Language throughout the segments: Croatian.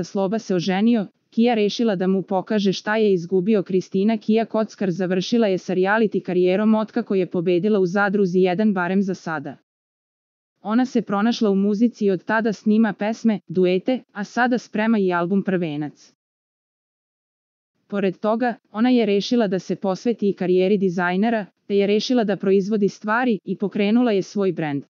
Sloba se oženio, Kija rešila da mu pokaže šta je izgubio. Kristina Kija Kockar završila je sa reality karijerom otkako je pobedila u Zadruzi 1 barem za sada. Ona se pronašla u muzici i od tada snima pesme, duete, a sada sprema i album Prvenac. Pored toga, ona je rešila da se posveti i karijeri dizajnera, te je rešila da proizvodi stvari i pokrenula je svoj brend.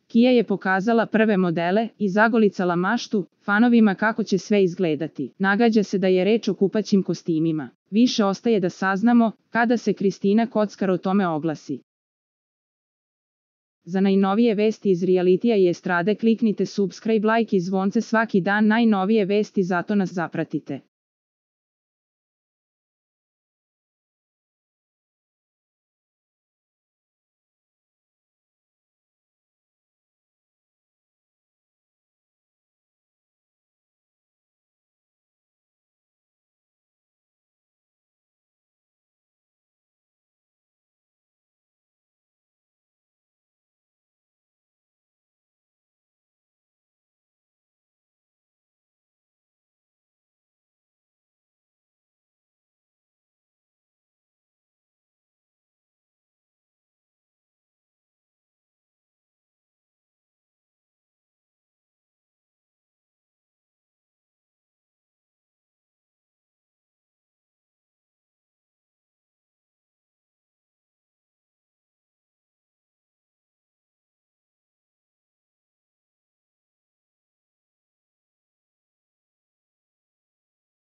Kija je pokazala prve modele i zagolicala maštu fanovima kako će sve izgledati. Nagađa se da je reč o kupaćim kostimima. Više ostaje da saznamo kada se Kristina Kockar o tome oglasi. Za najnovije vesti iz realitija i estrade kliknite subscribe, like i zvonce svaki dan. Najnovije vesti, zato nas zapratite.